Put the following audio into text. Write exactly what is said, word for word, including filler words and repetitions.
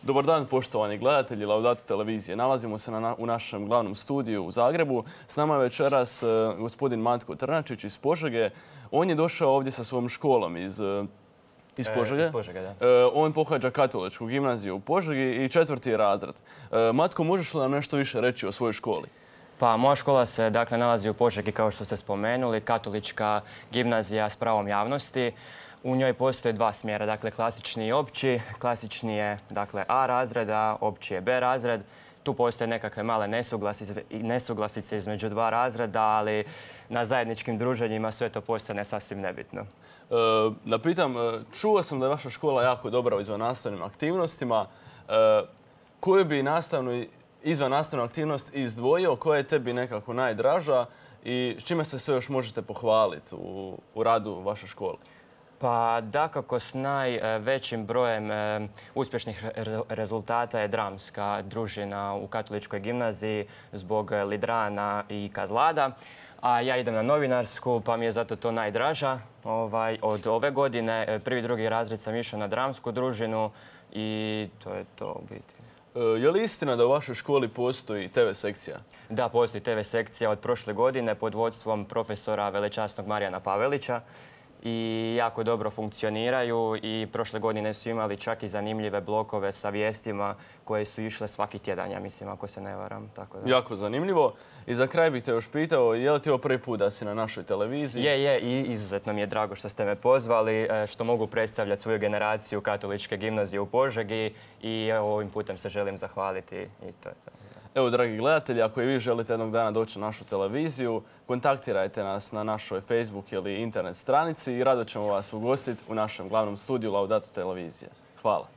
Dobar dan, poštovani gledatelji Laudato televizije. Nalazimo se na, u našem glavnom studiju u Zagrebu. S nama je večeras uh, gospodin Matko Trnačić iz Požege. On je došao ovdje sa svojom školom iz, uh, iz Požege. E, iz Požege, da. Uh, on pohađa katoličku gimnaziju u Požegi i četvrti je razred. Uh, Matko, možeš li nam nešto više reći o svojoj školi? Pa, moja škola se dakle nalazi u Požegi, kao što ste spomenuli, katolička gimnazija s pravom javnosti. U njoj postoje dva smjera, dakle klasični i opći. Klasični je dakle A razred, a opći je B razred. Tu postoje nekakve male nesuglasice, nesuglasice između dva razreda, ali na zajedničkim druženjima sve to postane sasvim nebitno. E, da pitam, čuo sam da je vaša škola jako dobra u izvannastavnim aktivnostima. E, koju bi nastavnu izvannastavnu aktivnost izdvojio, koja je tebi nekako najdraža i s čime se sve još možete pohvaliti u, u radu vaše škole? Pa dakako s najvećim brojem e, uspješnih re rezultata je dramska družina u katoličkoj gimnaziji zbog Lidrana i Kazlada. A ja idem na novinarsku, pa mi je zato to najdraža. Ovaj, od ove godine prvi i drugi razred sam išao na dramsku družinu i to je to u biti. E, je li istina da u vašoj školi postoji te ve sekcija? Da, postoji te ve sekcija od prošle godine pod vodstvom profesora velečasnog Marijana Pavelića. I jako dobro funkcioniraju i prošle godine su imali čak i zanimljive blokove sa vijestima koje su išle svaki tjedan, ja mislim, ako se ne varam. Tako da. Jako zanimljivo. I za kraj bih te još pitao, je li ti ovo prvi put da si na našoj televiziji? Je, je. I izuzetno mi je drago što ste me pozvali, što mogu predstavljati svoju generaciju katoličke gimnazije u Požegi i ovim putem se želim zahvaliti i to je to. Evo, dragi gledatelji, ako i vi želite jednog dana doći na našu televiziju, kontaktirajte nas na našoj Facebook ili internet stranici i rado ćemo vas ugostiti u našem glavnom studiju Laudato televizije. Hvala.